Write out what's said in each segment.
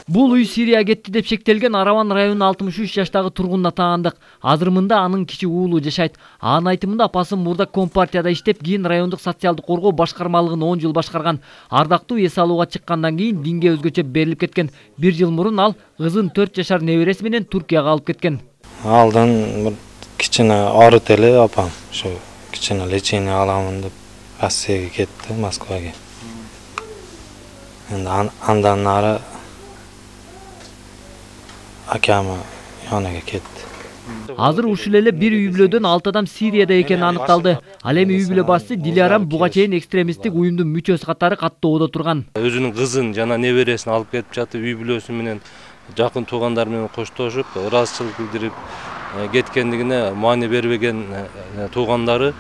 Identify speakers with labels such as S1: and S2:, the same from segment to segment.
S1: Бул үй Сирияга кетти деп шектелген Араван районунун 63 жаштагы тургунуна таандык. Азыр мында анын кичи уулу жашайт. Анын айтымында апасы мурда Компартияда иштеп, кийин райондук социалдык коргоо башкармалыгын 10 жыл башкарган. Ардактуу эс алууга чыккандан кийин динге өзгөчө берилип кеткен. 1 жыл мурун ал кызын 4 жашар небереси менен Туркияга алып кеткен.
S2: Алдан бир кичине аарыт эле апам, ошо кичине лечение аламын деп Россияга кетти, Москвага. Энди андан ары акама янага кетти.
S1: Азыр ушул эле бир үй бүлөдөн 6 адам Сирияда экени аныкталды. Ал эми үй бүлө башчысы Дилярам буга чейин экстремисттик уюмдун мүчөсү катары каттоодо турган.
S3: Өзүнүн кызын жана небересин алып кетип жатып, үй бүлөсү менен жакын туугандар менен коштошуп, ыраазычылык билдирип кеткендигине маани бербеген туугандары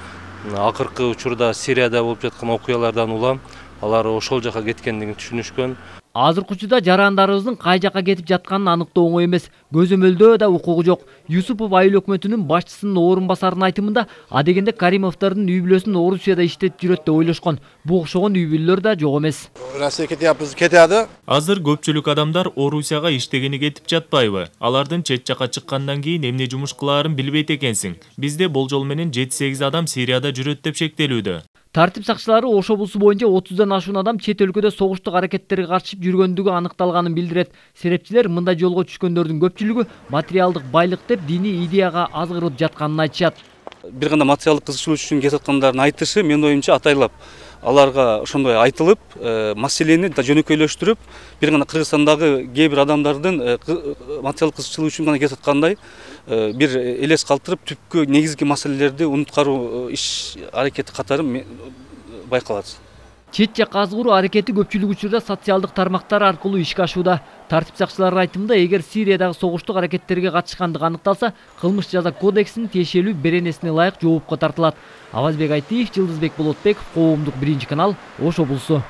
S3: акыркы учурда Сирияда болуп жаткан окуялардан улам алар ошол жака кеткендигин түшүнүшкөн.
S1: Азыркы учурда жарандарыбыздын кай жака кетип жатканын аныктоо оңой эмес. Көзөмөлдөө да укугу жок. Юсупов айыл өкмөтүнүн башчысынын орун басарынын айтымында, адегенде Каримовдордун үй бүлөсүн Орусияда иштетип жүрөт деп ойлошкон. Бу окшогон үй бүлөлөр да жок эмес.
S4: Россияга кетяпыз, кетяды.
S5: Азыр көпчүлүк адамдар Орусияга иштегени кетип жатпайбы? Алардын чет жака чыккандан кийин эмне жумуш кылаарын билбейт экенсиң. Бизде болжол менен 7-8 адам Сирияда жүрөт деп шектелүүдө.
S1: Тартип сакчылары Ош облусу боюнча 30дан ашуун адам чет өлкөдө согуштук аракеттерге каршы жүргөндүгү аныкталганын билдирет. Серепчилер мындай жолго түшкөндөрдүн көпчүлүгү материалдык байлык деп диний идеяга азгырып жатканын айтышат.
S6: Бир гана материалдык кызыкчылык үчүн кетип аткандардын айтышы менин оюмча атайлап аларга ошондой айтылып, маселени жөнөкөйлөштүрүп, бир гана Кыргызстандагы кээ бир адамдардын материалдык кызыкчылык үчүн гана кетип аткандай бир элес калтырып, түпкү негизги маселелерди унуткаруу иш аракети катары байкалат.
S1: Чет жакка азгыруу аракети көпчүлүк учурда социалдык тармактар аркылуу ишке ашууда. Тартип сакчыларынын айтымында, эгер Сириядагы согуштук аракеттерге катышкандыгы аныкталса, кылмыш жаза кодексинин тиешелүү беренесине ылайык жоопко тартылат. Авазбек Айтиев, Жылдызбек Болотбеков, Коомдук 1 канал, Ош облусу.